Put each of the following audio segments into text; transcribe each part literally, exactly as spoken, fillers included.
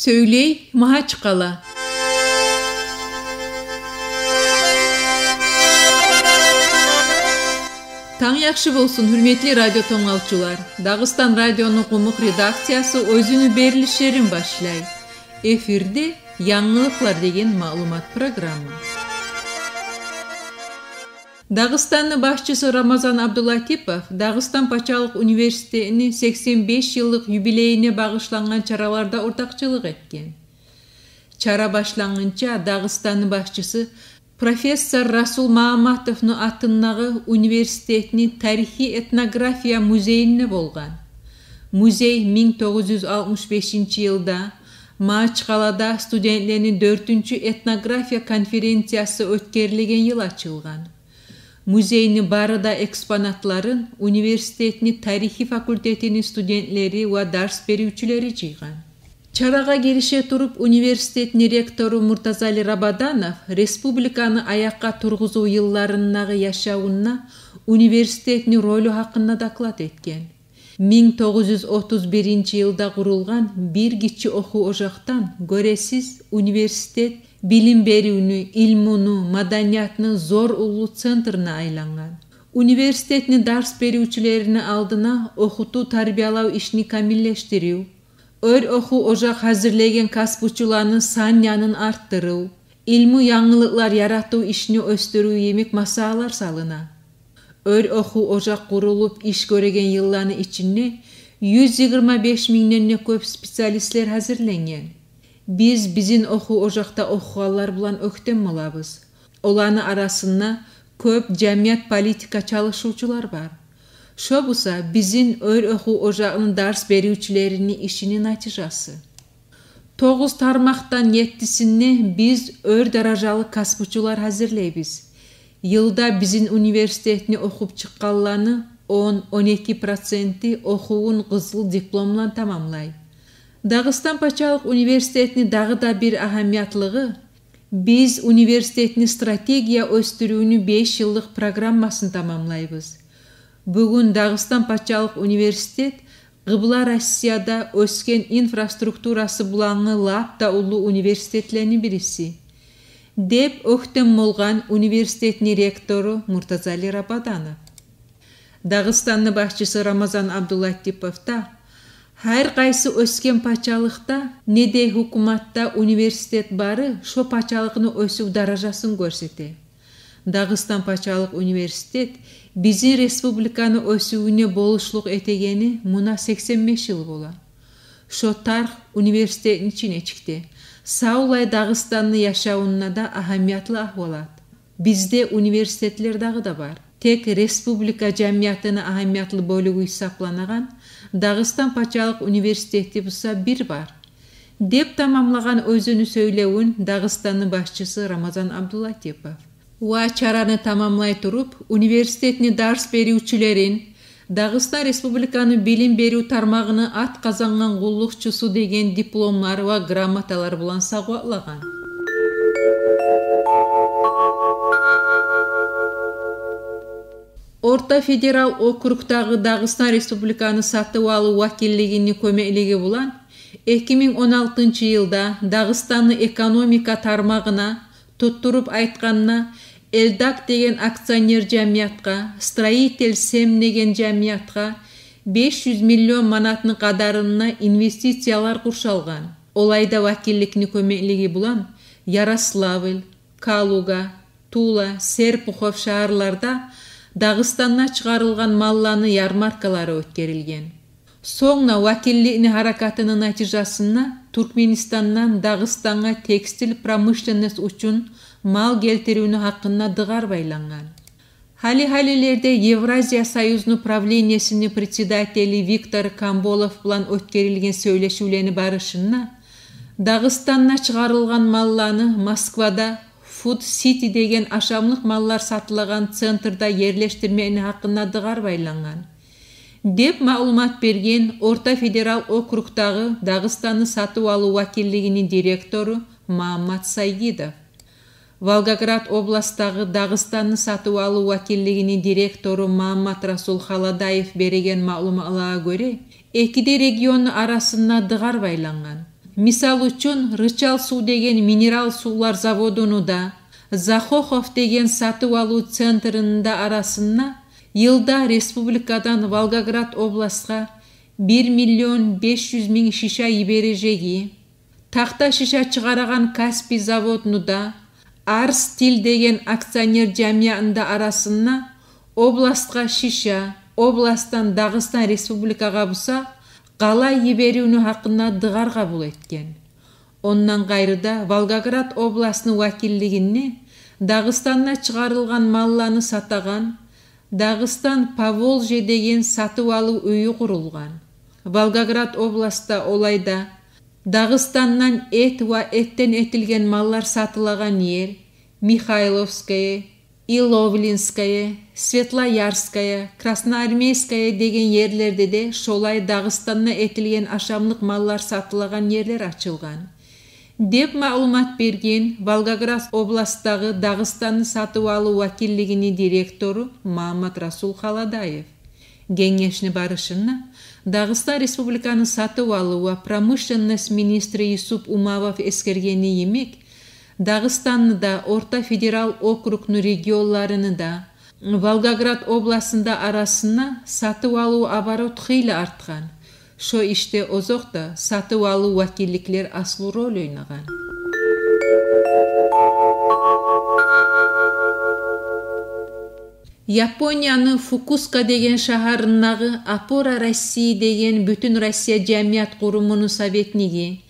Сёйлей Магьачкъала. Танг яхшы болсун, гьюрметли радио тынглавчулар. Дагъыстан радиону къумукъ редакциясы оьзюню берилишлерин башлай. Эфирде «Янгылыкълар» деген маълумат программа. Дагъыстанны башчысы Рамазан Абдулатипов Дагъыстан пачалыкъ университетини сексен беш йыллыкъ юбилейине багъышлангъан чараларда ортакъчылыкъ этген. Чара башлангъынча Дагъыстанны башчысы профессор Расул Магьамматовну атындагъы университетни тарихи этнография музейинде болгъан. Музей минг тогъуз юз алтмыш бешинчи йылда Магьачкъалада студентлени дёртюнчю этнография конференциясы оьтгерилген йыл ачылгъан. Музейни бары да экспонатларын университетни тарихи факультетини студентлери ва дарс беривчюлери жыйгъан. Чарагъа гирише туруп, университетни ректору Муртазали Рабаданов республиканы аякъгъа тургъузув йылларындагъы яшавунда университетни ролю гьакъында доклад этген. Минг тогъуз юз отуз биринчи йылда къурулгъан бир гиччи охув ожакъдан, гёресиз, университет билим беривню, илмуну, маданиятны зор уллу центрне айлангъан. Университетни дарс беривчюлерини алдына охутув-тарбиялав ишни камиллешдирив, оьр охув ожакъ гьазирлеген касбучуланы сан-янын артдырыв, илму янгылыкълар яратыв ишни оьсдюрюв йимик масъалалар салына. Оьр охув ожакъ къурулуп иш гёреген йылланы ичинде юз йигирма беш мингден де кёп специалистлер гьазирленген. Биз бизин охув ожакъда охугъанлар булан оьктем болабыз. Оланы арасында кёп жамият-политика чалышывчулар бар. Шо буса бизин оьр охув ожакъны дарс беривчюлерини ишини натижасы. Тогъуз тармакъдан еттисинде биз оьр даражалы касбучулар гьазирлейбиз. Йылда бизин университетни охуп чыкъгъанланы он, он эки проценти охувун къызыл диплом булан тамамлай. Дагъыстан пачалыкъ университетни дагъы да бир агьамиятлыгъы, биз университетни стратегия оьсдюрювню беш йыллыкъ программасын тамамлайбыз. Бугюн Дагъыстан пачалыкъ университет Къыбла Россияда оьсген инфраструктурасы булангъы лап да уллу университетлени бириси, деп оьктем болгъан университетни ректору Муртазали Рабаданов. Дагъыстанны башчысы Рамазан Абдулатипов да: гьар къайсы оьсген пачалыкъда не де гьукуматда университет бары шо пачалыкъны оьсюв даражасын гёрсете. Дагъыстан пачалыкъ университет бизин республиканы оьсювюне болушлукъ этегени муна сексен беш йыл бола. Шо тарих университетни ичине чыкъды. Савлай Дагъыстанны яшавунда да агьамиятлы агьвалат. Бизде университетлер дагъы да бар. Тек республика жамиятыны агьамиятлы бёлюгю гьисапланагъан Дагъыстан пачалыкъ университети буса бир бар, деп тамамлагъан оьзюню сёйлевюн Дагъыстанны башчысы Рамазан Абдулатипов. Ва чараны тамамлай туруп, университетни дарс беривчюлерин «Дагъыстан Республиканы билим берив тармагъыны ат къазангъан къуллукъчусу» деген дипломлар ва грамоталар булан савгъатлагъан. Орта федерал округдагъы Дагъыстан Республиканы сатыв-алыв вакиллигини кёмеклиги булан эки минг он алтынчы йылда Дагъыстанны экономика тармагъына, туттуруп айтгъанда, «Эльдак» деген акционер жамиятгъа, «Строитель Сем» деген жамиятгъа беш юз миллион манатны къадарында инвестициялар къуршалгъан. Олайда вакилликни кёмеклиги булан Ярославль, Калуга, Тула, Серпухов шагьарларда Дагъыстанда чыгъарылгъан малланы ярмаркалары оьтгерилген. Сонг да вакилликни гьаракатыны натижасында Туркменистандан Дагъыстангъа текстиль промышленность учун мал гелтиривню гьакъында дыгъар байлангъан. Гьали-гьалилерде Евразия союзну правлениесини председатели Виктор Камболов булан оьтгерилген сёйлешивлени барышында Дагъыстанда чыгъарылгъан малланы Москвада Фуд Сити деген ашамлыкъ маллар сатылагъан центрда ерлешдирмекни гьакъында дыгъар байлангъан, деп маълумат берген Орта федерал округдагъы Дагъыстанны сатыв-алыв вакиллигини директору Магьаммат Сайгидов. Волгоград областдагъы Дагъыстанны сатыв-алыв вакиллигини директору Магьаммат-Расул Халадаев береген маълуматлагъа гёре, эки де регионну арасында дыгъар байлангъан. Мисал учун, Рычал сув деген минерал сувлар заводуну да, Захохов деген сатыв-алыв центрини да арасында йылда республикадан Волгоград областгъа бир миллион беш юз минг шиша йибережеги, тахта шиша чыгъарагъан Каспий заводну да, Арстиль деген акционер жамиятны да арасында областгъа шиша, областдан Дагъыстан Республикагъа буса къалай йиберювню гьакъында дыгъар къабул этген. Ондан къайры да Волгоград областны вакиллигинде Дагъыстанда чыгъарылгъан малланы сатагъан Дагъыстан Поволжье деген сатыв-алыв уьюн къурулгъан. Волгоград областда олай да Дагъыстандан эт ва этден этилген маллар сатылагъан ер, Михайловское, Иловлинское, Светлоярское, Красноармейское деген ерлерде де шолай Дагъыстанда этилген ашамлыкъ маллар сатылагъан ерлер ачылгъан, деп маълумат берген Волгоград областдагъы Дагъыстанны сатыв-алыв вакиллигини директору Магьамматрасул Халадаев. Генгешни барышында Дагъыстан Республиканы сатыв-алыв ва промышленность министри Юсуп Умавов эсгергени йимик, Дагъыстанны да, Орта федерал округну регионларыны да, Волгоград областны да арасында сатыв-алыв оборот хыйлы артгъан. Шо ишде озокъда сатыв-алыв вакилликлер аслу роль ойнагъан. Японияны Фукуска деген шагьарындагъы «Опора России» деген бютюнроссия жамият къурумуну советниги,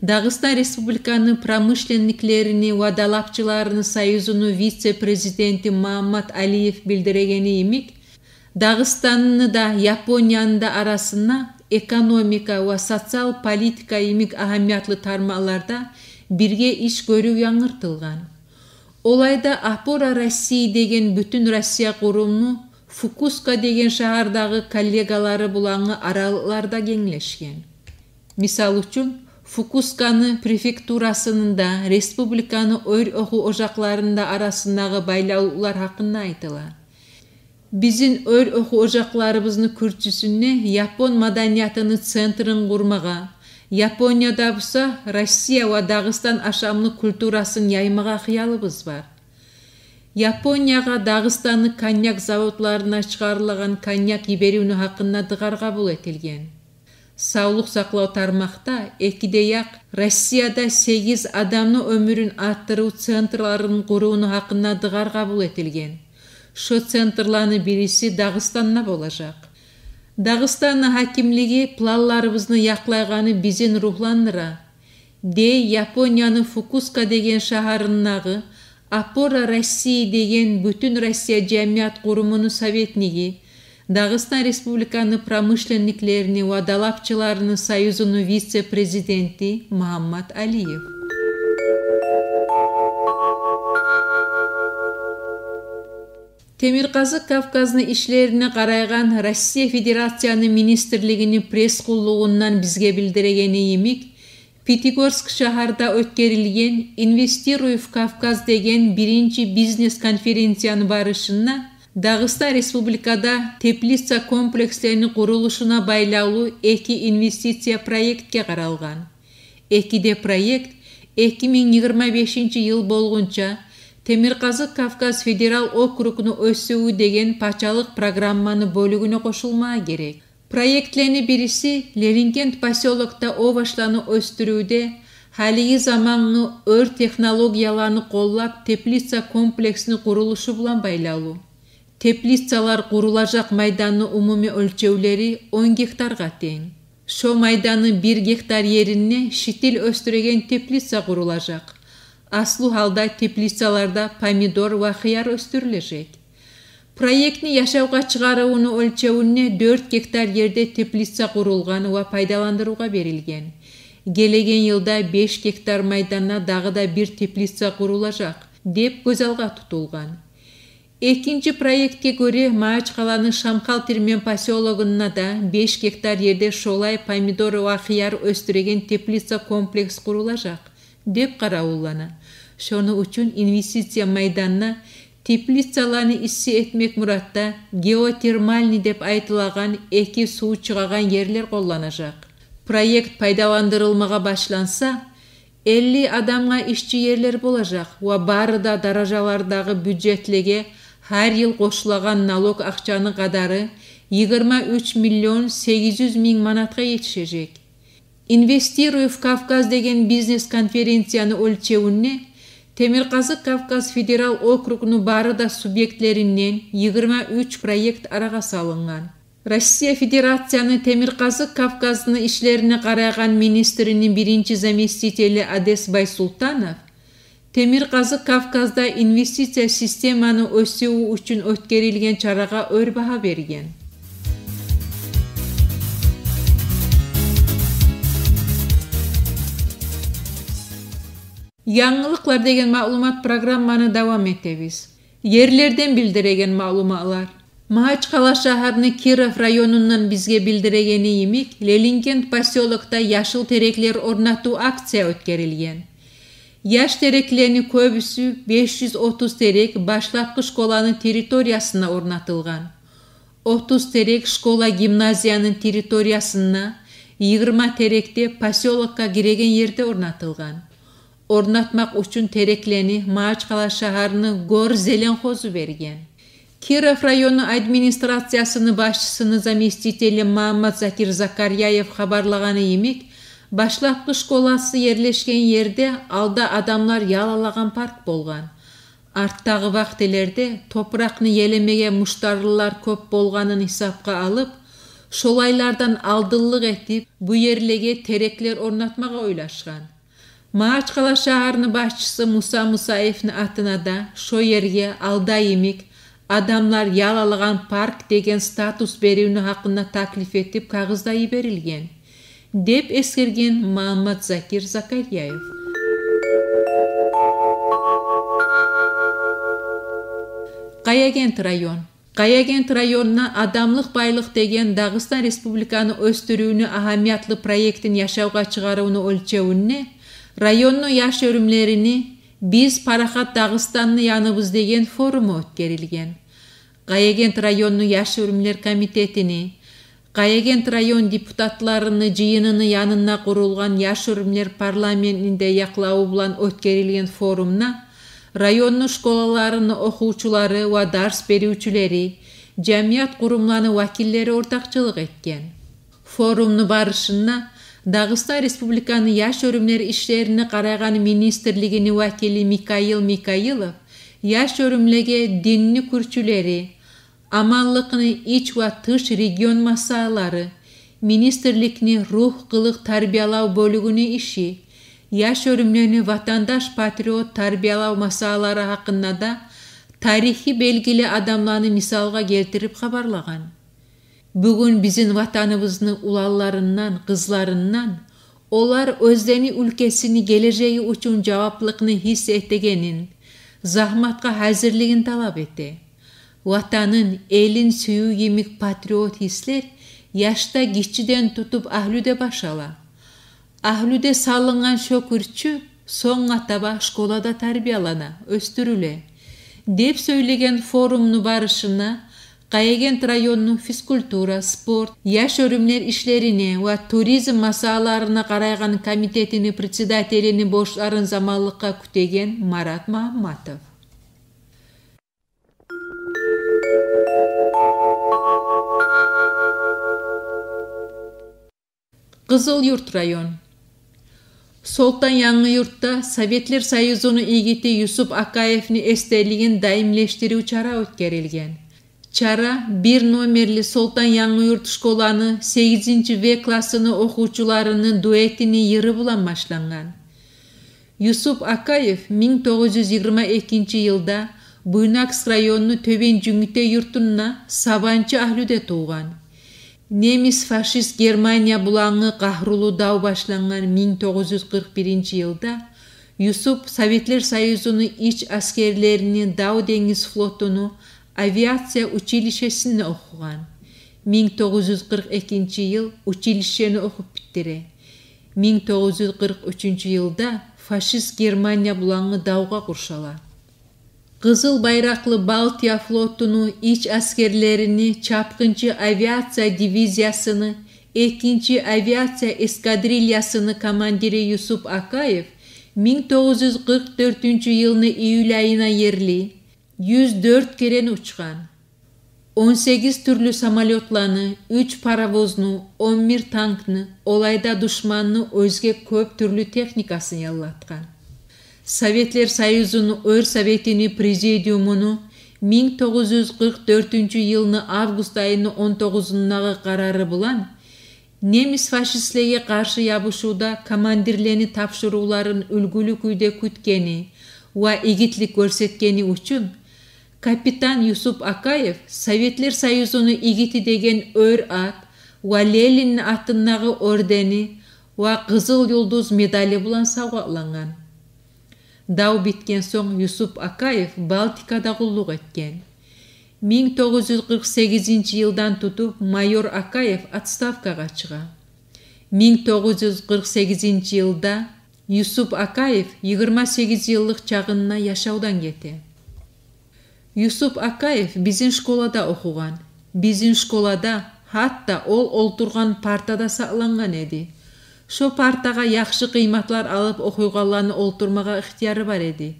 Дагъыстан Республиканы промышленниклерини ва далапчыларыны союзуну вице-президенти Магьаммат Алиев билдирегени йимик, Дагъыстанны да, Японияны да арасында экономика ва социал политика йимик агьамиятлы тармакъларда бирге иш гёрюв янгыртылгъан. Олай да «Опора России» деген бютюнроссия къурумну Фукуска деген шагьардагъы коллегалары булангъы аралыкълар да генглешген. Мисал учун, Фукусканы префектурасыны да, республиканы оьр охув ожакъларыны да арасындагъы байлавлукълар гьакъында айтыла. Бизин оьр охув ожакъларыбызны кюрчюсюнде япон маданиятыны центрин къурмагъа, Японияда буса Россия ва Дагъыстан ашамлыкъ культурасын яймагъа хыялыбыз бар. Япониягъа Дагъыстанны коньяк заводларына чыгъарылагъан коньяк йиберювню гьакъында дыгъар къабул этилген. Савлукъ сакълав тармакъда эки де якъ Россияда сегиз адамны оьмюрюн артдырыв центрлерин къурувну гьакъында дыгъар къабул этилген. Шо центрланы бириси Дагъыстанда болажакъ. Дагъыстанны гьакимлиги планларыбызны якълайгъаны бизин ругьландыра, дей Японияны Фукуска деген шагьарындагъы «Опора России» деген бютюнроссия жамият къурумуну советниги, Дагъыстан Республиканы промышленниклерини ва далапчыларыны союзуну вице-президенти Магьаммат Алиев. Темиркъазыкъ Кавказны ишлерине къарайгъан Россия Федерацияны министрлигини пресс-къуллугъундан бизге билдирегени йимик, Пятигорск шагьарда оьтгерилген «Инвестируй в Кавказ» деген биринчи бизнес-конференцияны барышында Дагъыстан Республикада теплица комплекслени къурулушуна байлавлу эки инвестиция проектге къаралгъан. Эки де проект эки минг йигирма бешинчи йыл болгъунча Темиркъазыкъ Кавказ федерал округну оьсювю деген пачалыкъ программаны бёлюгюне къошулмагъа герек. Проектлени бириси Лерингент посёлокда овощланы оьсдюрювде гьалиги замангъы оьр технологияланы къоллап теплица комплексни къурулушу булан байлавлу. Теплицалар къурулажакъ майданны умумий оьлчевлери он гектаргъа тенг. Шо майданны бир гектар еринде шитил оьсдюреген теплица къурулажакъ. Аслу гьалда теплицаларда помидор ва хыяр оьсдюрюлежек. Проектни яшавгъа чыгъарывну оьлчевюнде дёрт гектар ерде теплица къурулгъан ва пайдаландырывгъа берилген. Гелеген йылда беш гектар майданда дагъы да бир теплица къурулажакъ деп гёз алгъа тутулгъан. Экинчи проектге гёре, Магьачкъаланы Шамхал-Тирмен посёлогунда да беш гектар ерде шолай помидор ва хыяр оьсдюреген теплица комплекс къурулажакъ деп къаравуллана. Шону учун инвестиция майданына теплицаланы исси этмек муратда геотермальный деп айтылагъан эки сув чыгъагъан ерлер къолланажакъ. Проект пайдаландырылмагъа башланса, элли адамгъа ишчи ерлер болажакъ ва бары да даражалардагъы бюджетлеге гьар йыл къошулагъан налог акъчаны къадары йигирма уьч миллион сегиз юз минг манатгъа етишежек. «Инвестирую в Кавказ» деген бизнес-конференцияны оьлчевюнде Темиркъазыкъ Кавказ федерал округну бары да субъектлеринден йигирма уьч проект арагъа салынгъан. Россия Федерацияны Темиркъазыкъ Кавказны ишлерине къарайгъан министрини биринчи заместители Одес Байсултанов Темиркъазыкъ Кавказда инвестиция системаны оьсювю учун оьтгерилген чарагъа оьр багьа берген. Янгылыкълар деген маълумат программаны давам этебиз. Ерлерден билдиреген маълуматлар. Магьачкъала шагьарны Киров районундан бизге билдирегени йимик, Ленингент посёлокда яшыл тереклер орнатыв акция оьтгерилген. Яш тереклени кёбюсю, беш юз отуз терек, башлапгъы школаны территориясына орнатылгъан. Отуз терек школа-гимназияны территориясына, йигирма терек де посёлокгъа гиреген ерде орнатылгъан. Орнатмакъ учун тереклени Магьачкъала шагьарны Гор зеленхозу берген. Киров району администрациясыны башчысыны заместители Магьаммат-Закир Закарьяев хабарлагъаны йимик, башлапгъы школасы ерлешген ерде алда адамлар ял алагъан парк болгъан. Артдагъы вакътилерде топуракъны елемеге муштарлылар кёп болгъанын гьисапгъа алып, шолайлардан алдынлыкъ этип, бу ерлеге тереклер орнатмагъа ойлашгъан. Магьачкъала шагьарны башчысы Муса Мусаевни атына да шо ерге алда йимик адамлар ял алагъан парк деген статус беривню гьакъында таклиф этип кагъыз да йиберилген, деп эсгерген Магьаммат-Закир Закарьяев. Къаягент район. Къаягент районуна «Адамлыкъ байлыкъ» деген Дагъыстан Республиканы оьсдюрювню агьамиятлы проектин яшавгъа чыгъарывну оьлчевюнде районну яш оьрюмлерини «Биз парахат Дагъыстанны яныбыз» деген форуму оьтгерилген. Къаягент районну яш оьрюмлер комитетини, Къаягент район депутатларыны жыйыныны янында къурулгъан яш оьрюмлер парламентни де якълаву булан оьтгерилген форумда районну школаларыны охувчулары ва дарс беривчюлери, жамият къурумланы вакиллери ортакъчылыкъ этген. Форумну барышында Дагъыстан Республиканы яш оьрюмлер ишлерине къарайгъан министрлигини вакили Микаил Микаилов яш оьрюмлеге динни кюрчюлери, аманлыкъны ич ва тыш регион масъалалары, министрликни ругь-къылыкъ тарбиялав бёлюгюню иши, яш оьрюмлени ватандаш-патриот тарбиялав масъалалары гьакъында да тарихи белгили адамланы мисалгъа гелтирип хабарлагъан. Бугюн бизин Ватаныбызны уланларындан, къызларындан олар оьзлени уьлкесини гележеги учун жаваплыкъны гьис этегенин, загьматгъа гьазирлигин талап эте. Ватанын, элин сююв йимик патриот гьислер яшда гиччиден тутуп агьлюде баш ала. Агьлюде салынгъан шо кюрчю сонггъа таба школада тарбиялана, оьсдюрюле, деп сёйлеген форумну барышында Къаягент районну физкультура, спорт, яш оьрюмлер ишлерине ва туризм масъалаларына къарайгъан комитетини председателини борчларын заманлыкъгъа кютеген Марат Магьамматов. Къызылюрт район. Солтан-Янгыюртда Советлер Союзуну игити Юсуп Акаевни эсделигин даимлешдирив чара оьтгерилген. Чара бир номерли Солтан-Янгыюрт школаны сегизинчи В классыны охувчуларыны дуэтини йыры булан башлангъан. Юсуп Акаев минг тогъуз юз йигирма экинчи йылда Буйнакск районну Тёбен Жюнгютей юртунда сабанчы агьлюде тувгъан. Немис-фашист Германия булангъы къагьрулу дав башлангъан минг тогъуз юз къыркъ биринчи йылда Юсуп Советлер Союзуну ич аскерлерини дав-денгиз флотуну авиация училищесинде охугъан. Минг тогъуз юз къыркъ экинчи йыл училищени охуп битдире. Минг тогъуз юз къыркъ уьчюнчю йылда фашист Германия булангъы давгъа къуршала. Къызыл байракълы Балтия флотуну ич аскерлерини чапгъынчы авиация дивизиясыны Экинчи авиация эскадрильясыны командири Юсуп Акаев минг тогъуз юз къыркъ дёртюнчю йылны июль айына ерли юз дёрт керен учгъан. Он сегиз тюрлю самолётланы, уьч паровозну, он бир танкны, олай да душманны оьзге кёп тюрлю техникасын яллатгъан. Советлер Союзуну Оьрсоветини Президиумуну минг тогъуз юз къыркъ дёртюнчю йылны август айыны он тогъузундагъы къарары булан немис фашистлеге къаршы ябушувда командирлени тапшурувларын уьлгюлю кюйде кютгени ва игитлик гёрсетгени учун капитан Юсуп Акаев Советлер Союзуну игити деген оьр ат ва Ленинни атындагъы ордени ва Къызыл Юлдуз медали булан савгъатлангъан. Дав битген сонг Юсуп Акаев Балтикада къуллукъ этген. Минг тогъуз юз къыркъ сегизинчи йылдан тутуп майор Акаев отставкагъа чыгъа. Минг тогъуз юз къыркъ сегизинчи йылда Юсуп Акаев йигирма сегиз йыллыкъ чагъында яшавдан гете. Юсуп Акаев бизин школада охугъан. Бизин школада гьатта ол олтургъан парта да сакълангъан эди. Шо партагъа яхшы къыйматлар алып охуйгъанланы олтурмагъа ихтияры бар эди.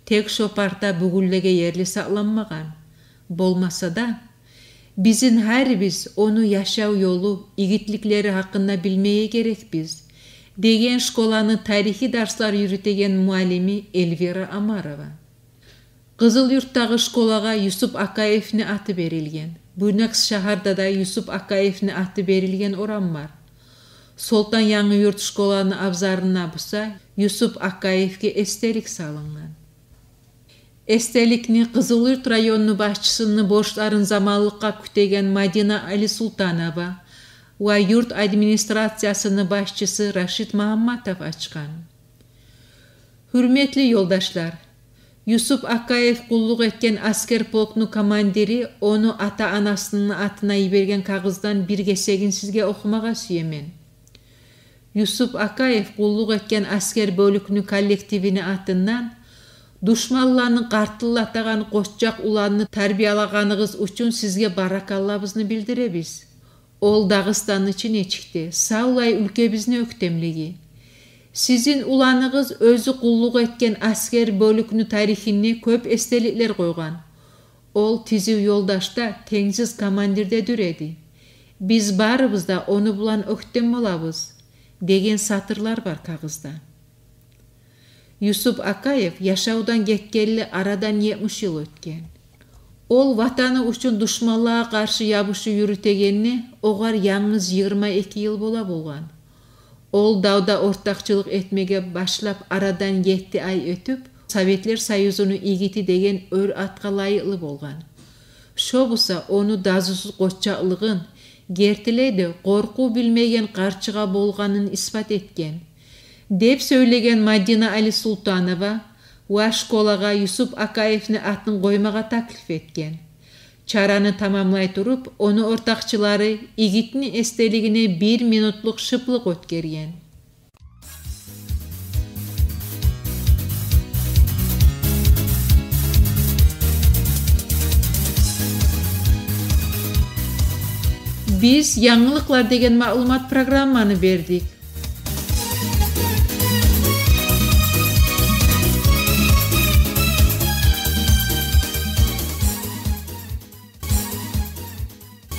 Тек шо парта бугюнлеге ерли сакъланмагъан. Болмаса да, бизин гьарибиз ону яшав ёлу, игитликлери гьакъында билмеге герекбиз, — деген школаны тарихи дарслар юрютеген муаллими Эльвира Омарова. Къызылюртдагъы школагъа Юсуп Акаевни аты берилген. Буйнакск шагьарда да Юсуп Акаевни аты берилген орам бар. Солтан-Янгыюрт школаны абзарына буса Юсуп Акаевге эсделик салынгъан. Эсделикни Къызылюрт районну башчысыны борчларын заманлыкъгъа кютеген Мадина Алисултанова ва юрт администрациясыны башчысы Рашид Магьамматов ачгъан. Гьюрметли ёлдашлар, Юсуп Акаев къуллукъ этген аскер полкну командири ону ата-анасыны атына йиберген кагъыздан бир гесегин сизге охумагъа сюемен. Юсуп Акаев къуллукъ этген аскер бёлюкню коллективини атындан душманланы къартыллатагъан къоччакъ уланны тарбиялагъаныгъыз учун сизге баракаллабызны билдиребиз. Ол Дагъыстанны чынечикде, савлай уьлкебизни оьктемлиги. Сизин уланыгъыз оьзю къуллукъ этген аскер бёлюкню тарихине кёп эсделиклер къойгъан. Ол тизив ёлдашда, тенгсиз командирде дюр эди. Биз барыбыз да ону булан оьктем болабыз, — деген сатырлар бар кагъызда. Юсуп Акаев яшавдан гетгенли арадан етмиш йыл оьтген. Ол ватаны учун душманлагъа къаршы ябушув юрютегенни огъар янгыз йигирма эки йыл бола болгъан. Ол давда ортакъчылыкъ этмеге башлап арадан етти ай оьтюп, Советлер Союзуну игити деген оьр атгъа лайыкълы болгъан. Шо буса ону дазусуз къоччакълыгъын, гертилей де къоркъув билмеген къарчыгъа болгъанын исбат этген, — деп сёйлеген Мадина Алисултанова ва школагъа Юсуп Акаевни атын къоймагъа таклиф этген. Чараны тамамлай туруп, ону ортакъчылары игитни эсделигине бир минутлукъ шыплыкъ оьтгерген. Биз «Янгылыкълар» деген маълумат программаны бердик.